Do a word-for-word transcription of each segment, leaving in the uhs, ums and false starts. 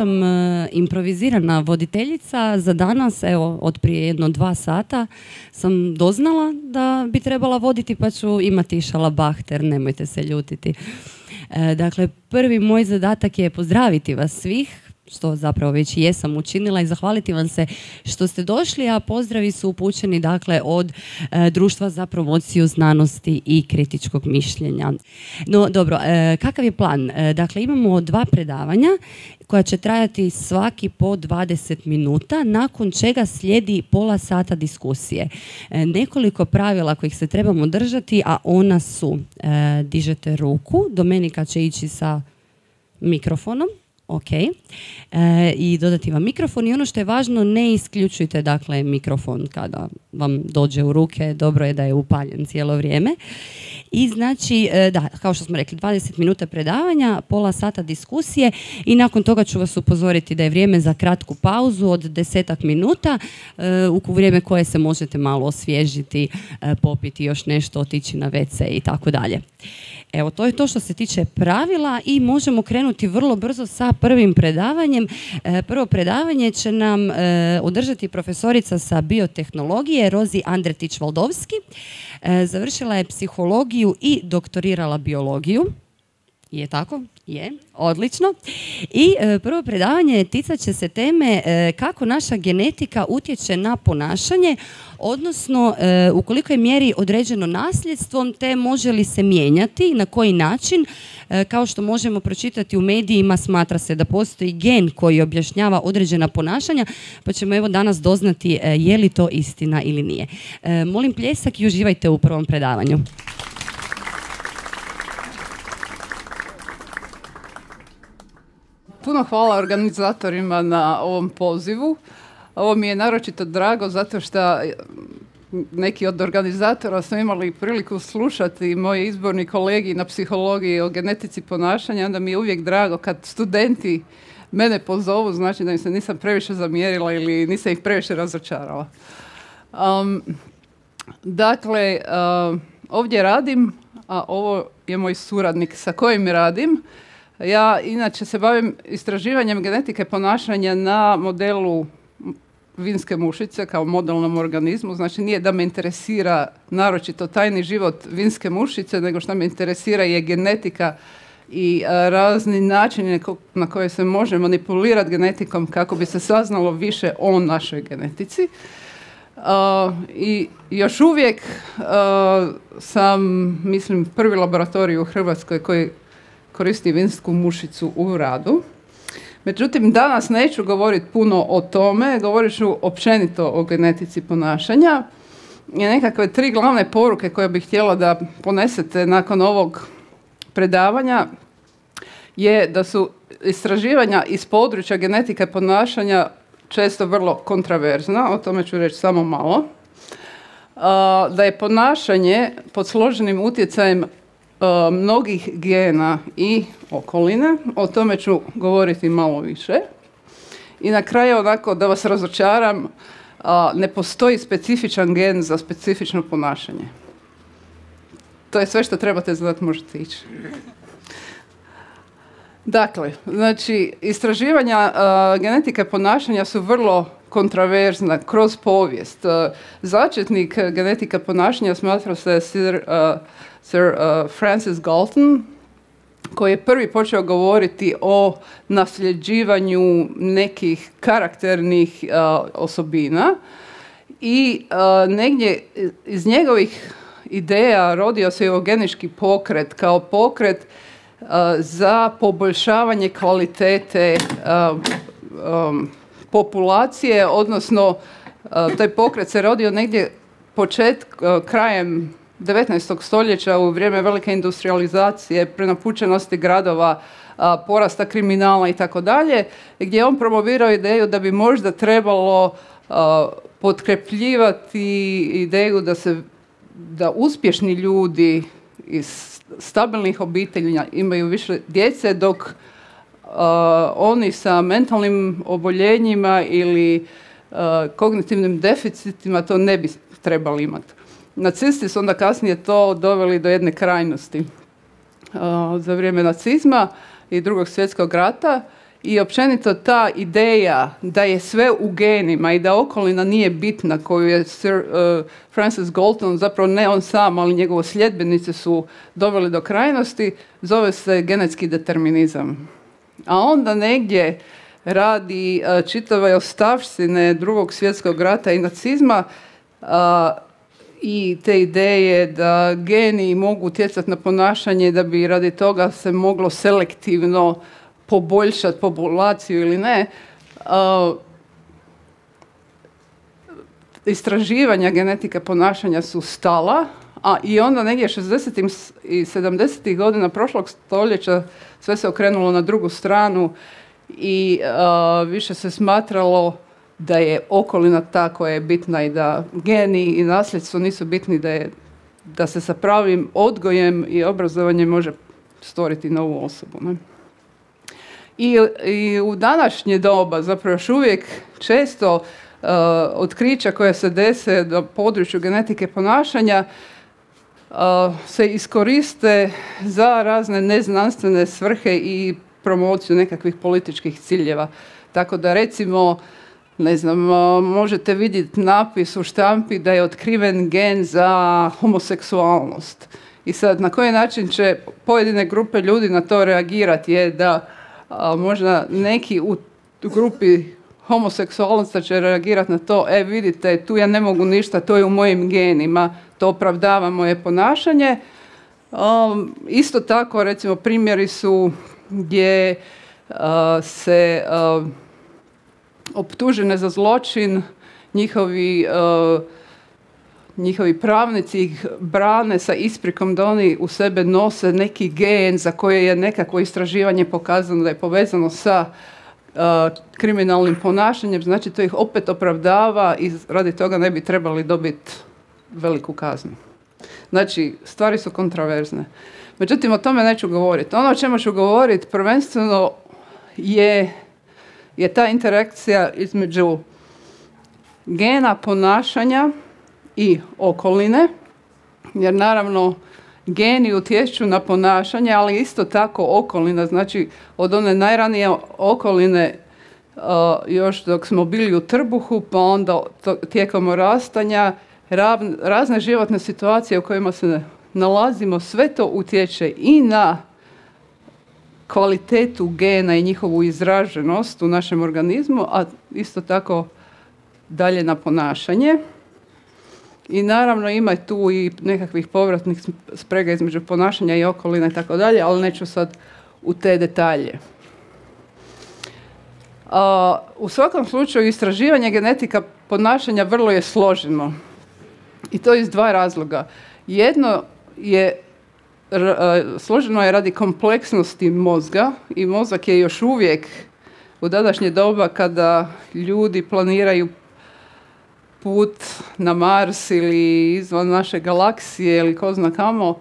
sam e, improvizirana voditeljica za danas, evo, od prije jedno dva sata sam doznala da bi trebala voditi, pa ću imati šalabahter, nemojte se ljutiti. E, dakle, prvi moj zadatak je pozdraviti vas svih, što zapravo već i jesam učinila, i zahvaliti vam se što ste došli, a pozdravi su upućeni dakle od e, Društva za promociju znanosti i kritičkog mišljenja. No dobro, e, kakav je plan? E, dakle, imamo dva predavanja koja će trajati svaki po dvadeset minuta, nakon čega slijedi pola sata diskusije. E, nekoliko pravila kojih se trebamo držati, a ona su e, dižete ruku, Domenika će ići sa mikrofonom. Ok, e, i dodati vam mikrofon, i ono što je važno, ne isključujte dakle mikrofon kada vam dođe u ruke, dobro je da je upaljen cijelo vrijeme. I znači, e, da, kao što smo rekli, dvadeset minuta predavanja, pola sata diskusije, i nakon toga ću vas upozoriti da je vrijeme za kratku pauzu od desetak minuta, e, u vrijeme koje se možete malo osvježiti, e, popiti još nešto, otići na ve ce i tako dalje. Evo, to je to što se tiče pravila, i možemo krenuti vrlo brzo sa prvim predavanjem. E, prvo predavanje će nam e, održati profesorica sa biotehnologije Rozi Andretić-Valdovski. E, završila je psihologiju i doktorirala biologiju. Je tako? Je. Odlično. I e, prvo predavanje ticat će se teme e, kako naša genetika utječe na ponašanje, odnosno e, u kolikoj mjeri određeno nasljedstvom, te može li se mijenjati, na koji način. E, kao što možemo pročitati u medijima, smatra se da postoji gen koji objašnjava određena ponašanja, pa ćemo evo danas doznati e, je li to istina ili nije. E, molim pljesak i uživajte u prvom predavanju. Puno hvala organizatorima na ovom pozivu. Ovo mi je naročito drago zato što neki od organizatora su imali priliku slušati moji izborni kolegi na psihologiji o genetici ponašanja. Onda mi je uvijek drago kad studenti mene pozovu, znači da im se nisam previše zamjerila ili nisam ih previše razočarala. Um, dakle, uh, ovdje radim, a ovo je moj suradnik sa kojim radim. Ja inače se bavim istraživanjem genetike ponašanja na modelu vinske mušice kao modelnom organizmu. Znači nije da me interesira naročito tajni život vinske mušice, nego što me interesira je genetika i a, razni načini na koje se može manipulirati genetikom kako bi se saznalo više o našoj genetici. Uh, I još uvijek uh, sam, mislim, prvi laboratorij u Hrvatskoj koji koristi vinsku mušicu u radu. Međutim, danas neću govoriti puno o tome, govorit ću općenito o genetici ponašanja. I nekakve tri glavne poruke koje bih htjela da ponesete nakon ovog predavanja je da su istraživanja iz područja genetike ponašanja često vrlo kontraverzna, o tome ću reći samo malo. Da je ponašanje pod složenim utjecajem mnogih gena i okoline, o tome ću govoriti malo više. I na kraju, onako da vas razočaram, ne postoji specifičan gen za specifično ponašanje. To je sve što trebate znati, možete ići. Dakle, znači, istraživanja uh, genetike ponašanja su vrlo kontraverzna kroz povijest. Uh, začetnik genetike ponašanja smatra se Sir, uh, Sir uh, Francis Galton, koji je prvi počeo govoriti o nasljeđivanju nekih karakternih uh, osobina i uh, negdje iz njegovih ideja rodio se eugenički pokret kao pokret uh, za poboljšavanje kvalitete uh, um, populacije, odnosno uh, taj pokret se rodio negdje počet, uh, krajem devetnaestog stoljeća u vrijeme velike industrializacije, prenapučenosti gradova, uh, porasta kriminala i tako dalje, gdje je on promovirao ideju da bi možda trebalo uh, potkrepljivati ideju da se da uspješni ljudi iz stabilnih obitelji imaju više djece, dok uh, oni sa mentalnim oboljenjima ili uh, kognitivnim deficitima to ne bi trebali imati. Nacisti su onda kasnije to doveli do jedne krajnosti uh, za vrijeme nacizma i Drugog svjetskog rata i općenito ta ideja da je sve u genima i da okolina nije bitna, koju je Sir uh, Francis Galton, zapravo ne on sam, ali njegovo sljedbenice su doveli do krajnosti, zove se genetski determinizam. A onda negdje radi uh, čitave ostavštine Drugog svjetskog rata i nacizma uh, i te ideje da geni mogu utjecati na ponašanje, da bi radi toga se moglo selektivno poboljšati populaciju ili ne. Uh, istraživanja genetika ponašanja su stala, a i onda negdje šezdesetih i sedamdesetih godina prošlog stoljeća sve se okrenulo na drugu stranu i uh, više se smatralo da je okolina ta koja je bitna i da geni i nasljedstvo nisu bitni, da, je, da se sa pravim odgojem i obrazovanjem može stvoriti novu osobu. Ne? I, I u današnje doba zapravo još uvijek često uh, otkrića koja se dese na području genetike ponašanja uh, se iskoriste za razne neznanstvene svrhe i promociju nekakvih političkih ciljeva. Tako da recimo, ne znam, možete vidjeti napis u štampi da je otkriven gen za homoseksualnost. I sad, na koji način će pojedine grupe ljudi na to reagirati je da a, možda neki u grupi homoseksualnosti će reagirati na to, e vidite, tu ja ne mogu ništa, to je u mojim genima, to opravdava moje ponašanje. Um, isto tako, recimo, primjeri su gdje uh, se uh, optužene za zločin, njihovi, uh, njihovi pravnici ih brane sa isprikom da oni u sebe nose neki gen za koje je nekakvo istraživanje pokazano da je povezano sa uh, kriminalnim ponašanjem, znači to ih opet opravdava i radi toga ne bi trebali dobiti veliku kaznu. Znači, stvari su kontraverzne. Međutim, o tome neću govoriti. Ono o čemu ću govoriti prvenstveno je, je ta interakcija između gena ponašanja i okoline, jer naravno geni utječu na ponašanje, ali isto tako okolina, znači od one najranije okoline uh, još dok smo bili u trbuhu, pa onda to, tijekom orastanja, rav, razne životne situacije u kojima se nalazimo, sve to utječe i na kvalitetu gena i njihovu izraženost u našem organizmu, a isto tako dalje na ponašanje. I naravno ima tu i nekakvih povratnih sprega između ponašanja i okoline i tako dalje, ali neću sad u te detalje. A, u svakom slučaju istraživanje genetika ponašanja vrlo je složeno. I to iz dva razloga. Jedno je, r, složeno je radi kompleksnosti mozga i mozak je još uvijek u današnje doba kada ljudi planiraju put na Mars ili izvan naše galaksije ili ko zna kamo,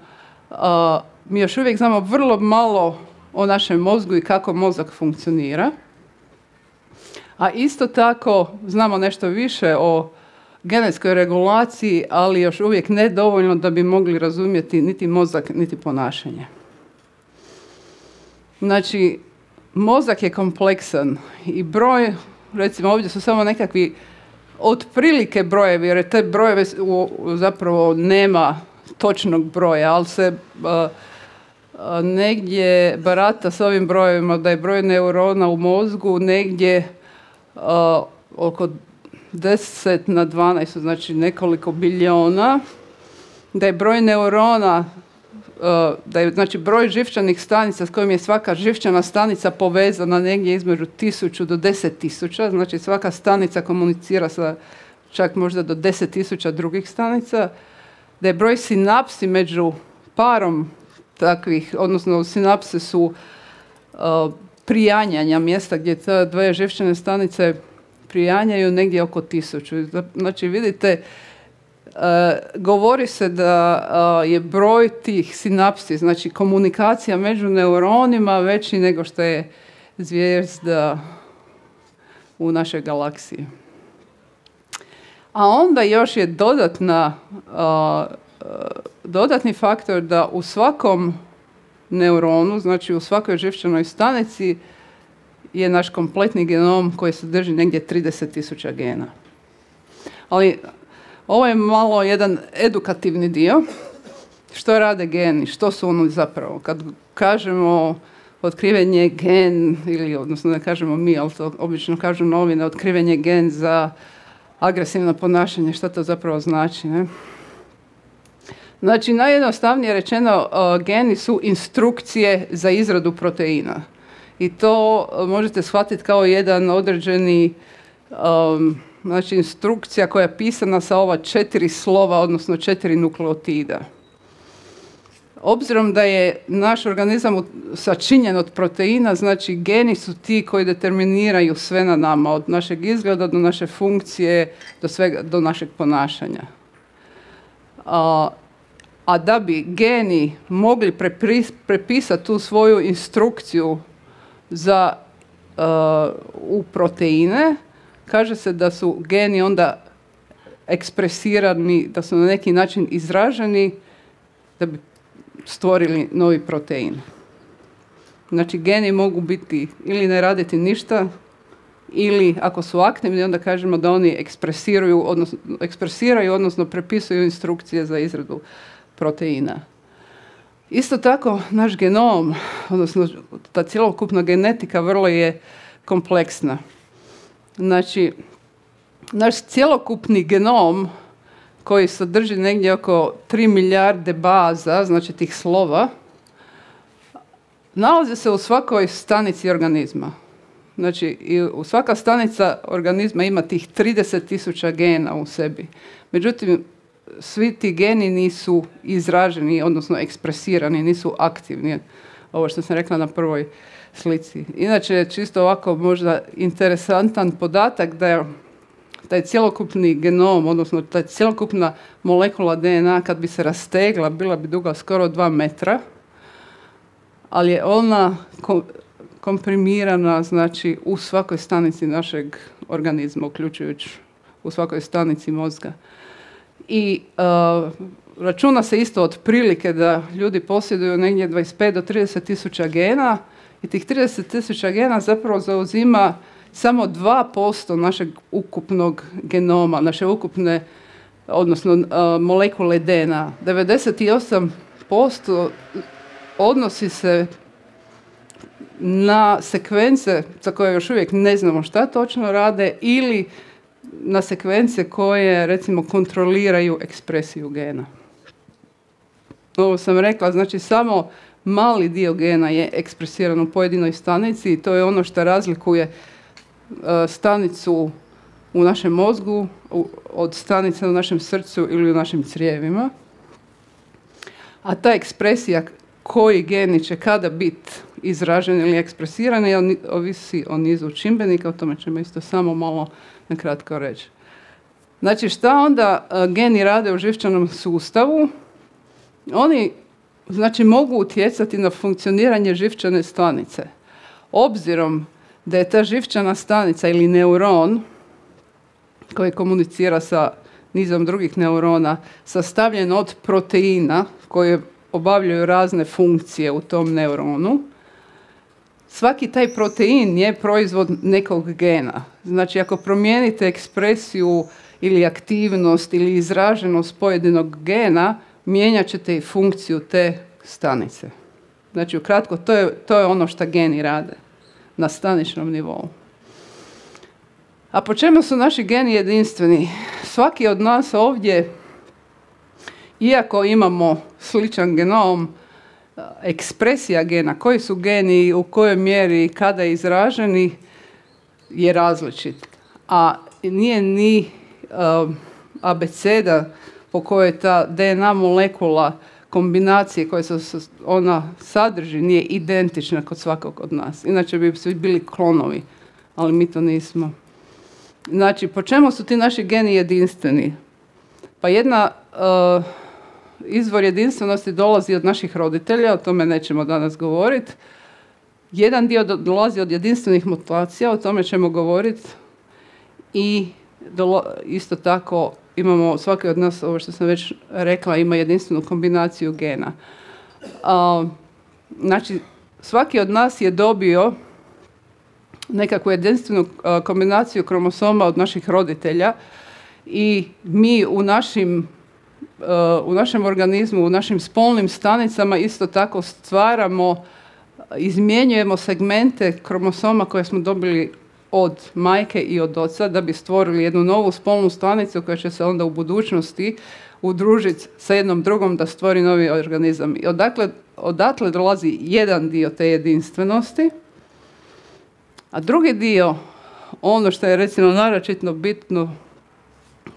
a, mi još uvijek znamo vrlo malo o našem mozgu i kako mozak funkcionira. A isto tako znamo nešto više o genetskoj regulaciji, ali još uvijek ne dovoljno da bi mogli razumjeti niti mozak, niti ponašanje. Znači, mozak je kompleksan i broj, recimo ovdje su samo nekakvi otprilike brojevi, jer te brojeve zapravo nema točnog broja, ali se uh, uh, negdje barata s ovim brojevima da je broj neurona u mozgu negdje uh, oko deset na dvanaest, znači nekoliko biliona, da je broj neurona, uh, da je znači broj živčanih stanica s kojim je svaka živčana stanica povezana negdje između tisuću do deset tisuća, znači svaka stanica komunicira sa čak možda do deset tisuća drugih stanica, da je broj sinapsi među parom takvih, odnosno sinapse su uh, prijanjanja, mjesta gdje te dvije živčane stanice prijanjaju negdje oko tisuću. Znači vidite, uh, govori se da uh, je broj tih sinapsi, znači komunikacija među neuronima veći nego što je zvijezda u našoj galaksiji. A onda još je dodatna, uh, uh, dodatni faktor da u svakom neuronu, znači u svakoj živčanoj stanici je naš kompletni genom koji sadrži negdje trideset tisuća gena. Ali ovo je malo jedan edukativni dio. Što rade geni? Što su oni zapravo? Kad kažemo otkriven je gen, ili odnosno ne kažemo mi, ali to obično kažu novine, otkriven je gen za agresivno ponašanje. Što to zapravo znači? Ne? Znači, najjednostavnije rečeno, uh, geni su instrukcije za izradu proteina. I to uh, možete shvatiti kao jedan određeni, um, znači instrukcija koja je pisana sa ova četiri slova, odnosno četiri nukleotida. Obzirom da je naš organizam sačinjen od proteina, znači geni su ti koji determiniraju sve na nama, od našeg izgleda do naše funkcije, do svega, do našeg ponašanja. A, a da bi geni mogli prepis, prepisati tu svoju instrukciju za, uh, u proteine, kaže se da su geni onda ekspresirani, da su na neki način izraženi da bi stvorili novi protein. Znači, geni mogu biti ili ne raditi ništa, ili ako su aktivni, onda kažemo da oni ekspresiraju, odnosno, ekspresiraju, odnosno prepisuju instrukcije za izradu proteina. Isto tako, naš genom, odnosno ta cjelokupna genetika vrlo je kompleksna. Znači, naš cjelokupni genom koji sadrži negdje oko tri milijarde baza, znači tih slova, nalazi se u svakoj stanici organizma. Znači, i u svaka stanica organizma ima tih trideset tisuća gena u sebi. Međutim, svi ti geni nisu izraženi, odnosno ekspresirani, nisu aktivni. Ovo što sam rekla na prvoj slici. Inače, čisto ovako možda interesantan podatak da je taj cjelokupni genom, odnosno ta cjelokupna molekula D N A, kad bi se rastegla, bila bi duga skoro dva metra, ali je ona kom- komprimirana, znači, u svakoj stanici našeg organizma, uključujući u svakoj stanici mozga. I uh, računa se isto otprilike da ljudi posjeduju negdje dvadeset pet do trideset tisuća gena i tih trideset tisuća gena zapravo zauzima samo dva posto našeg ukupnog genoma, naše ukupne, odnosno uh, molekule D N A. devedeset osam posto odnosi se na sekvence za koje još uvijek ne znamo šta točno rade ili na sekvence koje, recimo, kontroliraju ekspresiju gena. Ovo sam rekla, znači samo mali dio gena je ekspresiran u pojedinoj stanici i to je ono što razlikuje uh, stanicu u našem mozgu u, od stanice u našem srcu ili u našim crijevima. A ta ekspresija koji geni će kada biti izraženi ili ekspresirani ovisi o nizu čimbenika, o tome ćemo isto samo malo nakratko reći. Znači, šta onda uh, geni rade u živčanom sustavu? Oni, znači, mogu utjecati na funkcioniranje živčane stanice. Obzirom da je ta živčana stanica ili neuron koji komunicira sa nizom drugih neurona sastavljen od proteina koje obavljaju razne funkcije u tom neuronu, svaki taj protein je proizvod nekog gena. Znači, ako promijenite ekspresiju ili aktivnost ili izraženost pojedinog gena, mijenjat ćete i funkciju te stanice. Znači, ukratko, to je, to je ono što geni rade na staničnom nivou. A po čemu su naši geni jedinstveni? Svaki od nas ovdje, iako imamo sličan genom, ekspresija gena, koji su geni, u kojoj mjeri, kada izraženi, je različit. A nije ni uh, abeceda po kojoj ta D N A molekula kombinacije koje se ona sadrži nije identična kod svakog od nas. Inače bi svi bili klonovi, ali mi to nismo. Znači, po čemu su ti naši geni jedinstveni? Pa jedna uh, izvor jedinstvenosti dolazi od naših roditelja, o tome nećemo danas govoriti. Jedan dio do, dolazi od jedinstvenih mutacija, o tome ćemo govoriti. I dolo, isto tako imamo, svaki od nas, ovo što sam već rekla, ima jedinstvenu kombinaciju gena. Uh, znači, svaki od nas je dobio nekakvu jedinstvenu kombinaciju kromosoma od naših roditelja i mi u našim, u našem organizmu, u našim spolnim stanicama isto tako stvaramo, izmjenjujemo segmente kromosoma koje smo dobili od majke i od oca da bi stvorili jednu novu spolnu stanicu koja će se onda u budućnosti udružiti sa jednom drugom da stvori novi organizam. I odakle, odatle dolazi jedan dio te jedinstvenosti, a drugi dio, ono što je recimo naročito bitno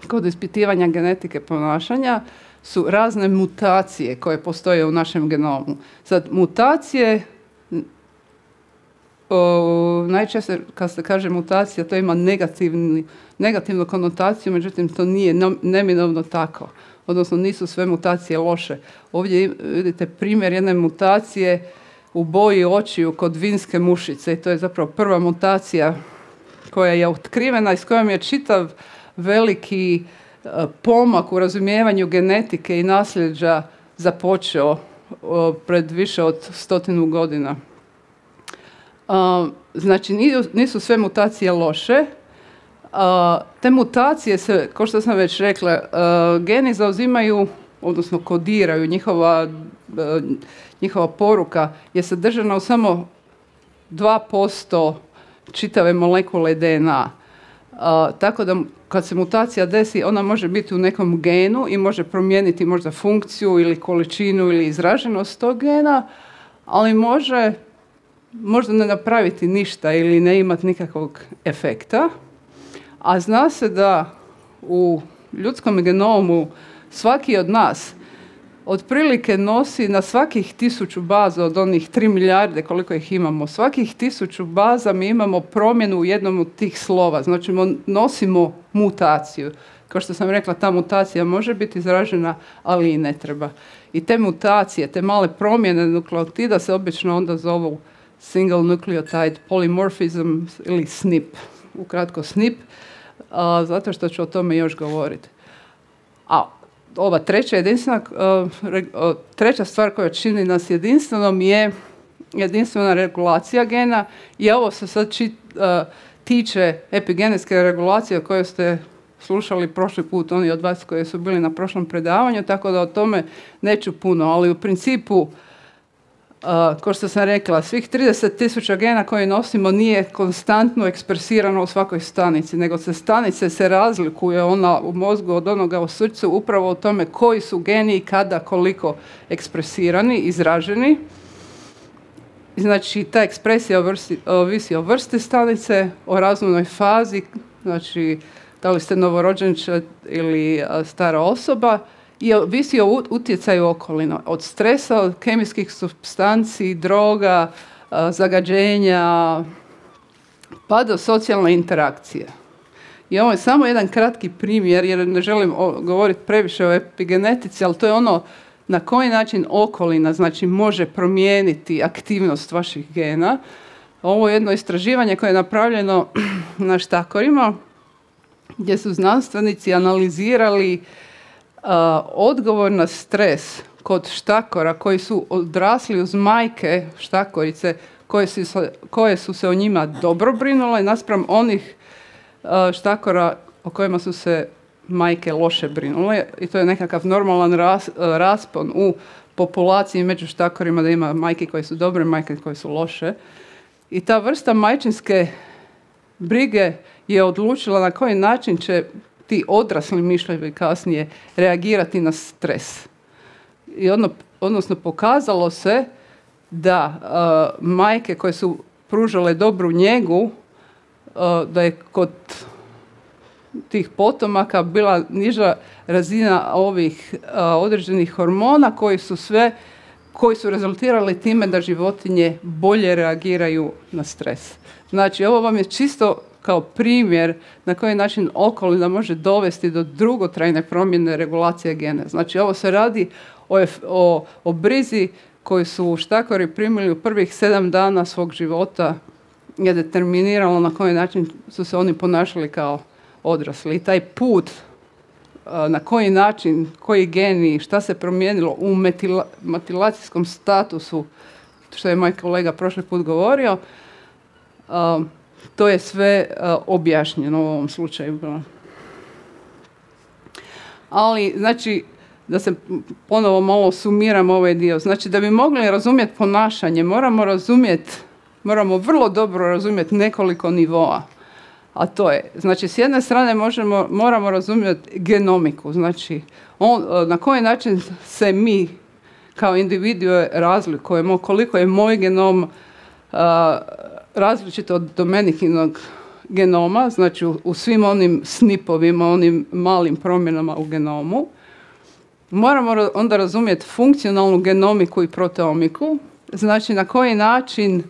kod ispitivanja genetike ponašanja, su razne mutacije koje postoje u našem genomu. Sad, mutacije, o, najčešće kad se kaže mutacija, to ima negativni, negativnu konotaciju, međutim to nije neminovno tako. Odnosno nisu sve mutacije loše. Ovdje vidite primjer jedne mutacije u boji očiju kod vinske mušice i to je zapravo prva mutacija koja je otkrivena i s kojom je čitav veliki uh, pomak u razumijevanju genetike i nasljeđa započeo uh, pred više od stotinu godina. Uh, znači nisu, nisu sve mutacije loše. Uh, te mutacije se, kao što sam već rekla, uh, geni zauzimaju, odnosno kodiraju, njihova, uh, njihova poruka je sadržana u samo dva posto čitave molekule D N A. Uh, tako da kad se mutacija desi, ona može biti u nekom genu i može promijeniti možda funkciju ili količinu ili izraženost tog gena, ali može možda ne napraviti ništa ili ne imati nikakvog efekta. A zna se da u ljudskom genomu svaki od nas otprilike nosi na svakih tisuću baza od onih tri milijarde koliko ih imamo, svakih tisuću baza mi imamo promjenu u jednom od tih slova. Znači nosimo mutaciju. Kao što sam rekla, ta mutacija može biti izražena, ali i ne treba. I te mutacije, te male promjene nukleotida se obično onda zovu single nucleotide polymorphism ili S N P. Ukratko S N P, a, zato što ću o tome još govoriti. A ova treća jedinstvena, uh, re, uh, treća stvar koja čini nas jedinstvenom je jedinstvena regulacija gena i ovo se sad čit, uh, tiče epigenetske regulacije o kojoj ste slušali prošli put, oni od vas koji su bili na prošlom predavanju, tako da o tome neću puno, ali u principu Uh, kao što sam rekla, svih trideset tisuća gena koje nosimo nije konstantno ekspresirano u svakoj stanici, nego se stanice se razlikuje ona u mozgu od onoga u srcu upravo o tome koji su geni i kada, koliko ekspresirani, izraženi. Znači, ta ekspresija vrsti, ovisi o vrsti stanice, o razvojnoj fazi, znači da li ste novorođenčad ili stara osoba, i ovisi o utjecaju okolina, od stresa, od kemijskih supstanci, droga, zagađenja, pa do socijalne interakcije. I ovo je samo jedan kratki primjer, jer ne želim govoriti previše o epigenetici, ali to je ono na koji način okolina znači, može promijeniti aktivnost vaših gena. Ovo je jedno istraživanje koje je napravljeno na štakorima, gdje su znanstvenici analizirali Uh, odgovor na stres kod štakora koji su odrasli uz majke štakorice koje su, koje su se o njima dobro brinule naspram onih uh, štakora o kojima su se majke loše brinule i to je nekakav normalan ras, uh, raspon u populaciji među štakorima da ima majke koje su dobre, majke koje su loše i ta vrsta majčinske brige je odlučila na koji način će ti odrasli mišljevi kasnije reagirati na stres. I ono, odnosno pokazalo se da uh, majke koje su pružale dobru njegu, uh, da je kod tih potomaka bila niža razina ovih uh, određenih hormona koji su sve, koji su rezultirali time da životinje bolje reagiraju na stres. Znači, ovo vam je čisto kao primjer na koji način okolina može dovesti do dugotrajne promjene regulacije gena. Znači, ovo se radi o, o, o brizi koju su štakori primili u prvih sedam dana svog života, je determiniralo na koji način su se oni ponašali kao odrasli. I taj put, na koji način, koji geni, šta se promijenilo u metila, metilacijskom statusu, što je moj kolega prošli put govorio, to je sve uh, objašnjeno u ovom slučaju. Ali, znači, da se ponovo malo sumiramo ovaj dio. Znači, da bi mogli razumjeti ponašanje, moramo razumjeti, moramo vrlo dobro razumjeti nekoliko nivoa. A to je, znači, s jedne strane možemo, moramo razumjeti genomiku. Znači, on, na koji način se mi kao individue razlikujemo, koliko je moj genom uh, različit od Domenikinog genoma, znači u, u svim onim snipovima, onim malim promjenama u genomu. Moramo onda razumjeti funkcionalnu genomiku i proteomiku, znači na koji način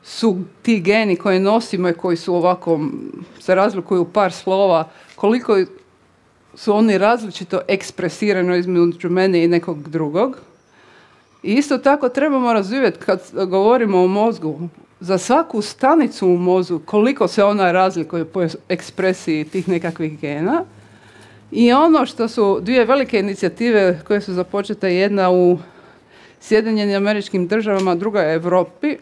su ti geni koje nosimo i koji su ovako, se razlikuju u par slova, koliko su oni različito ekspresirani između mene i nekog drugog. I isto tako trebamo razumjeti kad govorimo o mozgu, za svaku stanicu u mozgu, koliko se ona razlikuje po ekspresiji tih nekakvih gena. I ono što su dvije velike inicijative koje su započete, jedna u Sjedinjenim Američkim Državama, druga u Europi,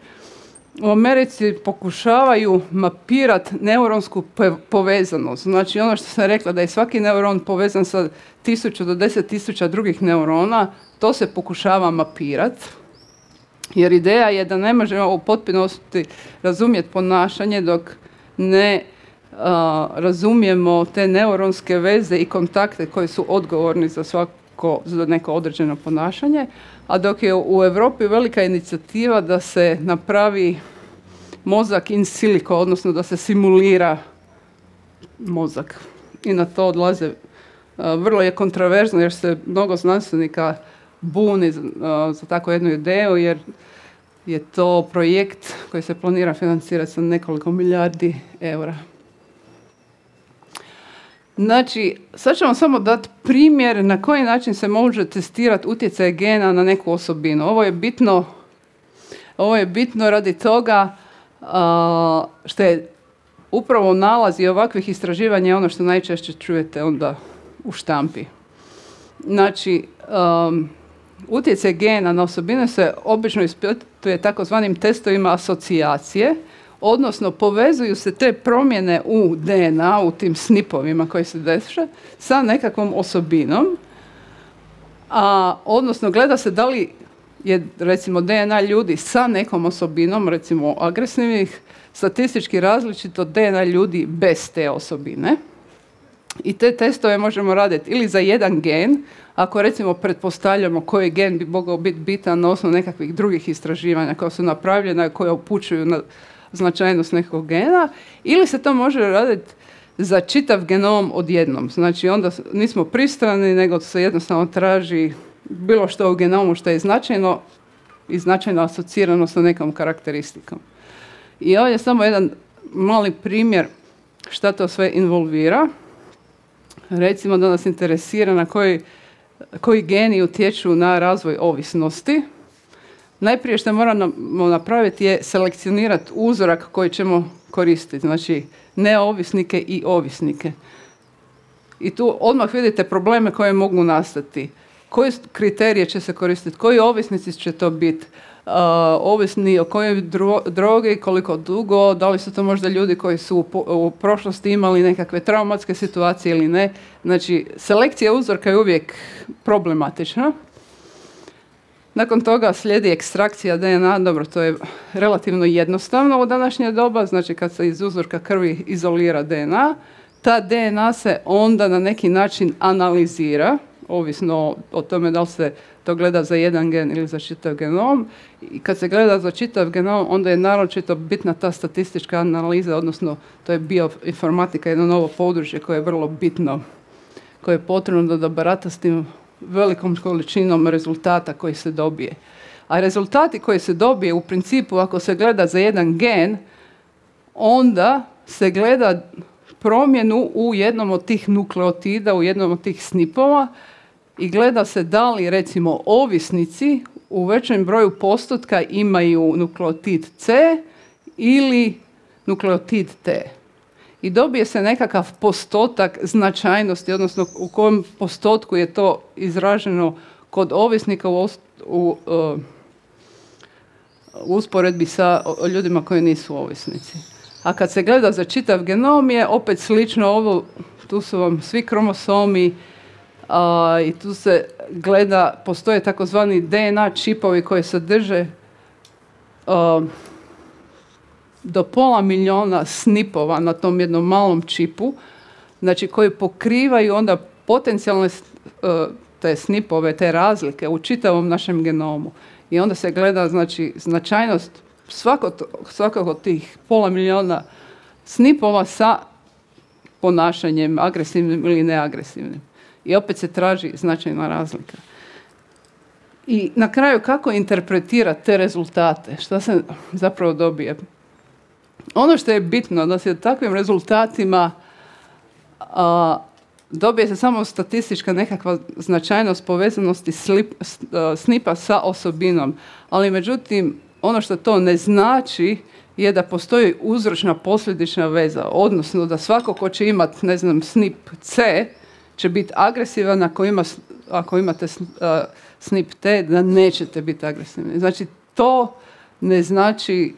u Americi pokušavaju mapirati neuronsku povezanost. Znači ono što sam rekla da je svaki neuron povezan sa tisuću do deset tisuća drugih neurona, to se pokušava mapirati. Jer ideja je da ne možemo u potpunosti razumjeti ponašanje dok ne uh, razumijemo te neuronske veze i kontakte koji su odgovorni za svako, za neko određeno ponašanje. A dok je u Europi velika inicijativa da se napravi mozak in silico, odnosno da se simulira mozak. I na to odlaze, uh, vrlo je kontroverzno jer se mnogo znanstvenika buni uh, za takvu jednu ideju, jer je to projekt koji se planira financirati sa nekoliko milijardi eura. Znači, sad ćemo samo dati primjer na koji način se može testirati utjecaj gena na neku osobinu. Ovo je bitno, ovo je bitno radi toga uh, što je upravo nalazi ovakvih istraživanja ono što najčešće čujete onda u štampi. Znači, um, utjecaj gena na osobine se obično ispituje takozvanim testovima asocijacije, odnosno povezuju se te promjene u D N A, u tim snipovima koji se dešava, sa nekakvom osobinom, a, odnosno gleda se da li je recimo D N A ljudi sa nekom osobinom, recimo agresivnih, statistički različit od D N A ljudi bez te osobine. I te testove možemo raditi ili za jedan gen, ako recimo pretpostavljamo koji gen bi mogao biti bitan na osnovu nekakvih drugih istraživanja koja su napravljena i koja upućuju na značajnost nekog gena, ili se to može raditi za čitav genom odjednom. Znači onda nismo pristrani, nego se jednostavno traži bilo što u genomu što je značajno i značajno asocirano sa nekom karakteristikom. I ovdje je samo jedan mali primjer šta to sve involvira. Recimo da nas interesira na koji, koji geni utječu na razvoj ovisnosti. Najprije što moramo napraviti je selekcionirati uzorak koji ćemo koristiti, znači neovisnike i ovisnike. I tu odmah vidite probleme koje mogu nastati. Koji kriterije će se koristiti, koji ovisnici će to biti, uh, ovisni o kojoj dro- drogi, koliko dugo, da li su to možda ljudi koji su u, po- u prošlosti imali nekakve traumatske situacije ili ne. Znači, selekcija uzorka je uvijek problematična. Nakon toga slijedi ekstrakcija D N A, dobro, to je relativno jednostavno u današnje doba, znači kad se iz uzorka krvi izolira D N A, ta D N A se onda na neki način analizira, ovisno o tome da li se to gleda za jedan gen ili za čitav genom. I kad se gleda za čitav genom, onda je naročito bitna ta statistička analiza, odnosno to je bioinformatika, jedno novo područje koje je vrlo bitno, koje je potrebno da barata s tim velikom količinom rezultata koji se dobije. A rezultati koji se dobije u principu, ako se gleda za jedan gen, onda se gleda promjenu u jednom od tih nukleotida, u jednom od tih snipova i gleda se da li recimo ovisnici u većem broju postotka imaju nukleotid C ili nukleotid T. I dobije se nekakav postotak značajnosti, odnosno u kojem postotku je to izraženo kod ovisnika u, u, u usporedbi sa ljudima koji nisu ovisnici. A kad se gleda za čitav genom je opet slično ovo, tu su vam svi kromosomi a, i tu se gleda, postoje takozvani D N A čipovi koji sadrže a, do pola milijuna snipova na tom jednom malom čipu, znači koji pokrivaju onda potencijalne a, te snipove, te razlike u čitavom našem genomu. I onda se gleda znači značajnost svakog, svakog od tih pola milijuna snipova sa ponašanjem agresivnim ili neagresivnim. I opet se traži značajna razlika. I na kraju kako interpretirati te rezultate? Šta se zapravo dobije? Ono što je bitno da se od takvim rezultatima a, dobije se samo statistička nekakva značajnost povezanosti slip, snipa sa osobinom. Ali međutim, ono što to ne znači je da postoji uzročna posljedična veza. Odnosno da svako ko će imati, ne znam, snip C će biti agresivan, ako, ima, ako imate snip T da nećete biti agresivni. Znači to ne znači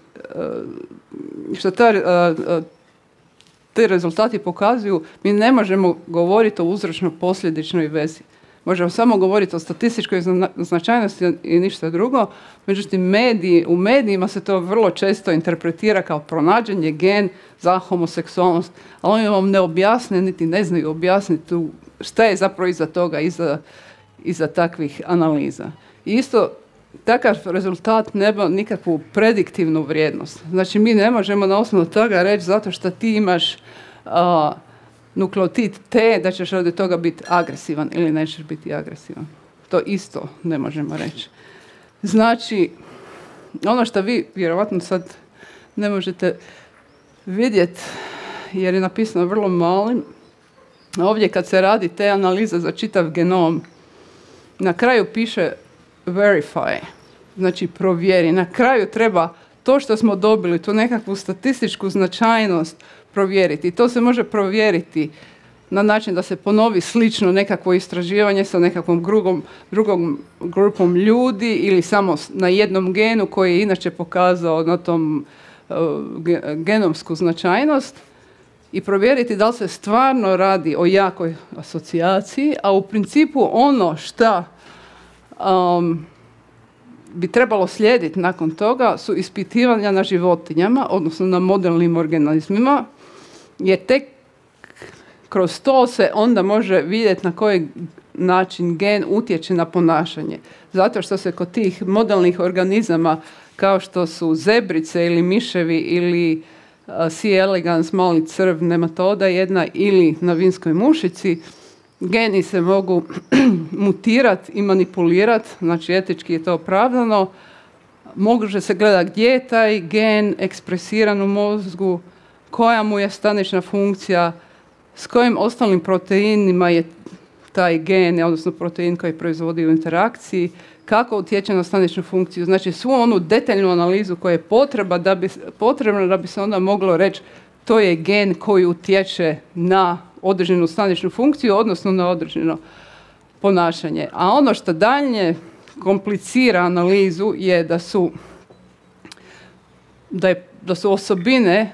što ta te rezultati pokazuju, mi ne možemo govoriti o uzročno-posljedičnoj vezi. Možemo samo govoriti o statističkoj značajnosti i ništa drugo. Međutim, mediji, u medijima se to vrlo često interpretira kao pronađen je gen za homoseksualnost, ali oni vam ne objasne, niti ne znaju objasniti tu šta je zapravo iza toga, iza, iza takvih analiza. I isto, takav rezultat nema nikakvu prediktivnu vrijednost. Znači, mi ne možemo na osnovu toga reći zato što ti imaš uh, nukleotid T, da ćeš od toga biti agresivan ili nećeš biti agresivan. To isto ne možemo reći. Znači, ono što vi vjerovatno sad ne možete vidjeti, jer je napisano vrlo malim, ovdje kad se radi te analize za čitav genom, na kraju piše verify, znači provjeri. Na kraju treba to što smo dobili, tu nekakvu statističku značajnost provjeriti. I to se može provjeriti na način da se ponovi slično nekakvo istraživanje sa nekakvom drugom, drugom grupom ljudi ili samo na jednom genu koji je inače pokazao na tom uh, genomsku značajnost i provjeriti da li se stvarno radi o jakoj asocijaciji, a u principu ono što um, bi trebalo slijediti nakon toga su ispitivanja na životinjama, odnosno na modelnim organizmima, jer tek kroz to se onda može vidjeti na koji način gen utječe na ponašanje. Zato što se kod tih modelnih organizama, kao što su zebrice ili miševi ili uh, C. elegans, mali crv, nematoda jedna, ili na vinskoj mušici, geni se mogu mutirati i manipulirati, znači etički je to opravdano. Može se gledati gdje je taj gen ekspresiran u mozgu, koja mu je stanična funkcija, s kojim ostalim proteinima je taj gen, odnosno protein koji proizvodi u interakciji, kako utječe na staničnu funkciju. Znači svu onu detaljnu analizu koja je potreba da bi, potrebna da bi se onda moglo reći to je gen koji utječe na određenu staničnu funkciju, odnosno na određeno ponašanje. A ono što dalje komplicira analizu je da su, da je, da su osobine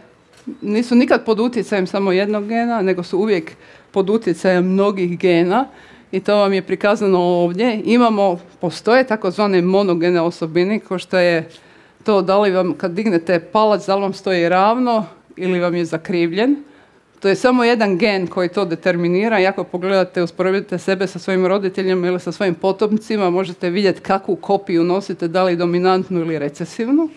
nisu nikad pod utjecajem samo jednog gena, nego su uvijek pod utjecajem mnogih gena i to vam je prikazano ovdje. Imamo, postoje takozvane monogene osobine, kao što je to da li vam kad dignete palac, da li vam stoji ravno ili vam je zakrivljen. To je samo jedan gen koji to determinira i ako pogledate, usporedite sebe sa svojim roditeljima ili sa svojim potomcima, možete vidjeti kakvu kopiju nosite, da li dominantnu ili recesivnu.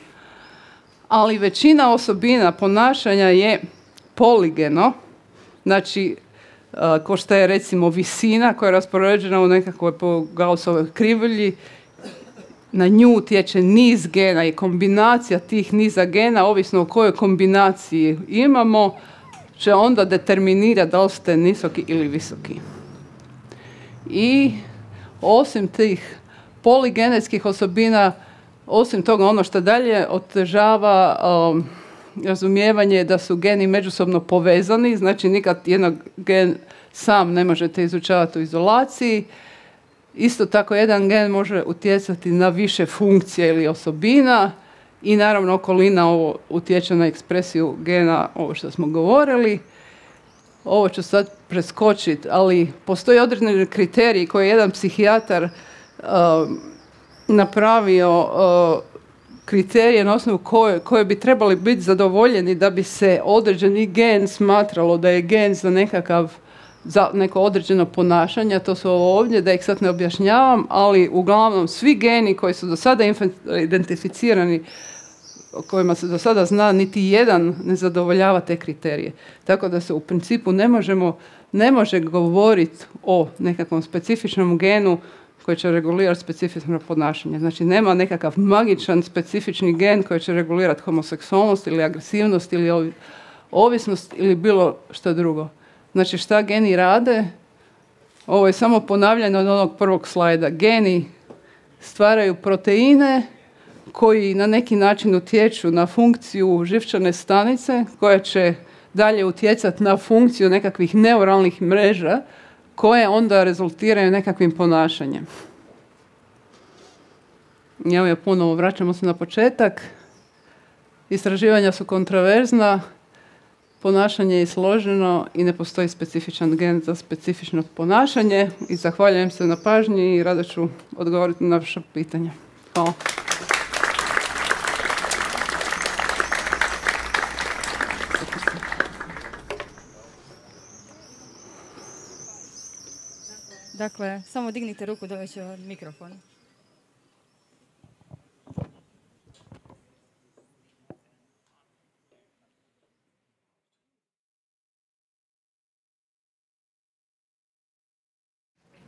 Ali većina osobina ponašanja je poligeno, znači ko što je recimo visina koja je raspoređena u nekakvoj po Gaussovoj krivulji, na nju utječe niz gena i kombinacija tih niza gena, ovisno o kojoj kombinaciji imamo, će onda determinirati da li ste nisoki ili visoki. I osim tih poligenetskih osobina, osim toga ono što dalje otežava um, razumijevanje da su geni međusobno povezani, znači nikad jedan gen sam ne možete izučavati u izolaciji. Isto tako jedan gen može utjecati na više funkcije ili osobina i naravno okolina ovo utječe na ekspresiju gena, ovo što smo govorili. Ovo ću sad preskočiti, ali postoji određeni kriteriji koje je jedan psihijatar uh, napravio, uh, kriterije na osnovu koje, koje bi trebali biti zadovoljeni da bi se određeni gen smatralo da je gen za nekakav za neko određeno ponašanje, to su ovo ovdje, da ih sad ne objašnjavam, ali uglavnom svi geni koji su do sada identificirani, o kojima se do sada zna, niti jedan ne zadovoljava te kriterije. Tako da se u principu ne možemo, ne može govoriti o nekakvom specifičnom genu koji će regulirati specifično ponašanje. Znači nema nekakav magičan specifični gen koji će regulirati homoseksualnost ili agresivnost ili ovisnost ili bilo što drugo. Znači šta geni rade? Ovo je samo ponavljanje od onog prvog slajda. Geni stvaraju proteine koji na neki način utječu na funkciju živčane stanice koja će dalje utjecati na funkciju nekakvih neuralnih mreža koje onda rezultiraju nekakvim ponašanjem. Evo je ponovo, vraćamo se na početak. Istraživanja su kontroverzna, ponašanje je složeno i ne postoji specifičan gen za specifično ponašanje. I zahvaljujem se na pažnji i rado ću odgovoriti na vaše pitanje. Hvala. Dakle, samo dignite ruku da će mikrofon.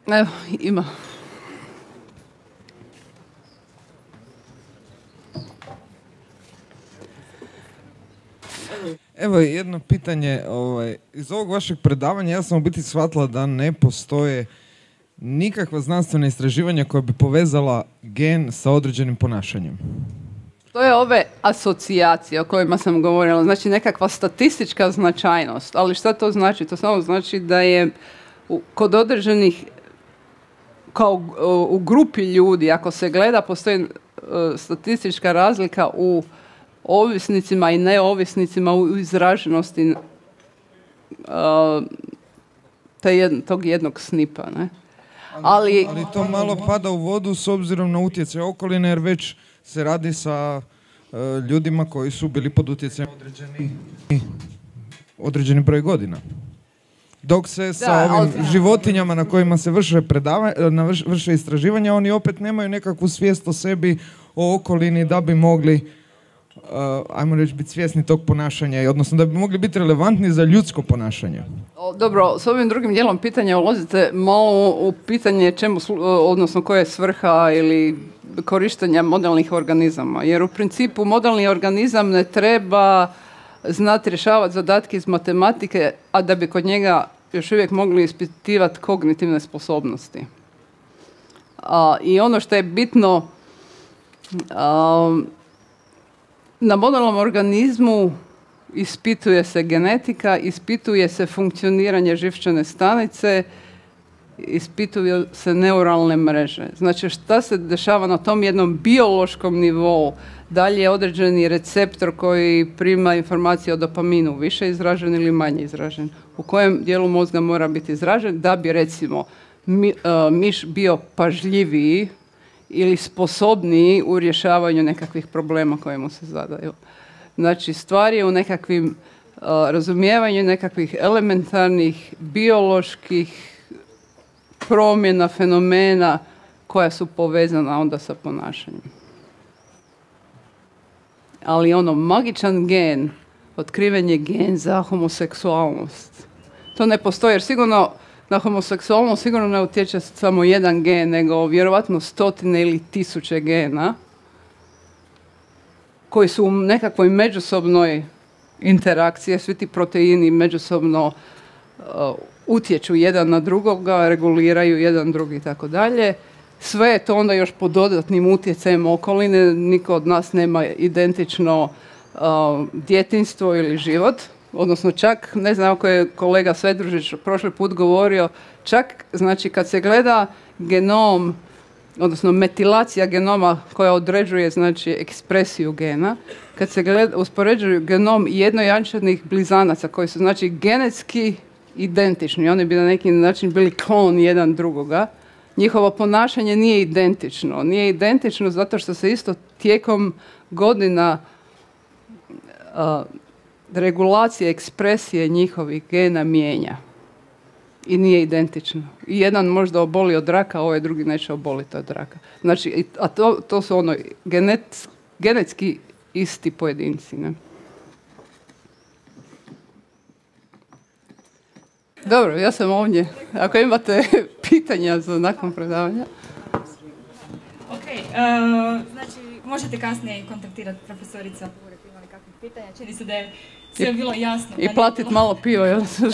Evo, ima. Evo jedno pitanje. Ovaj, iz ovog vašeg predavanja ja sam u biti shvatila da ne postoje nikakva znanstvena istraživanja koja bi povezala gen sa određenim ponašanjem. To je ove asocijacije o kojima sam govorila. Znači nekakva statistička značajnost. Ali šta to znači? To samo znači da je u, kod određenih, kao u, u grupi ljudi, ako se gleda, postoji uh, statistička razlika u ovisnicima i neovisnicima u izraženosti uh, jed, tog jednog snipa, ne? Ali, ali to malo pada u vodu s obzirom na utjecaj okoline, jer već se radi sa uh, ljudima koji su bili pod utjecajem određeni, određeni broj godina. Dok se sa da, ovim ali... životinjama na kojima se vrše, predava, na vrš, vrše istraživanja, oni opet nemaju nekakvu svijest o sebi, o okolini, da bi mogli, uh, ajmo reći, biti svjesni tog ponašanja, odnosno da bi mogli biti relevantni za ljudsko ponašanje. Dobro, s ovim drugim dijelom pitanja ulazite malo u pitanje čemu, odnosno koja je svrha ili korištenja modelnih organizama. Jer u principu modelni organizam ne treba znati rješavati zadatke iz matematike, a da bi kod njega još uvijek mogli ispitivati kognitivne sposobnosti. A, I ono što je bitno, a, na modelnom organizmu ispituje se genetika, ispituje se funkcioniranje živčane stanice, ispituju se neuralne mreže. Znači šta se dešava na tom jednom biološkom nivou? Da li je određeni receptor koji prima informacije o dopaminu više izražen ili manje izražen? U kojem dijelu mozga mora biti izražen da bi recimo mi, uh, miš bio pažljiviji ili sposobniji u rješavanju nekakvih problema koje mu se zadaju. Znači stvar je u nekakvim uh, razumijevanju nekakvih elementarnih bioloških promjena, fenomena koja su povezana onda sa ponašanjem. Ali ono, magičan gen, otkriven je gen za homoseksualnost. To ne postoji, jer sigurno na homoseksualnost sigurno ne utječe samo jedan gen, nego vjerovatno stotine ili tisuće gena koji su u nekakvoj međusobnoj interakciji, svi ti proteini međusobno uh, utječu jedan na drugoga, reguliraju jedan drugi i tako dalje. Sve je to onda još pod dodatnim utjecajem okoline. Niko od nas nema identično uh, djetinjstvo ili život. Odnosno čak, ne znam ako je kolega Svedružić prošli put govorio, čak znači kad se gleda genom odnosno metilacija genoma koja određuje znači ekspresiju gena, kad se gleda, uspoređuju genom jednojančanih blizanaca koji su znači genetski identični, oni bi na neki način bili klon jedan drugoga, njihovo ponašanje nije identično. Nije identično zato što se isto tijekom godina uh, regulacija ekspresije njihovih gena mijenja. I nije identično. I jedan možda oboli od raka, a ovaj drugi neće oboliti od raka. Znači, a to, to su ono genet, genetski isti pojedinci. Ne? Dobro, ja sam ovdje. Ako imate pitanja za nakon predavanja. Ok, uh, znači možete kasnije kontaktirati profesorica budete imali kakvih pitanja. Čini se da je sve bilo jasno. I platiti malo piva. Ja sam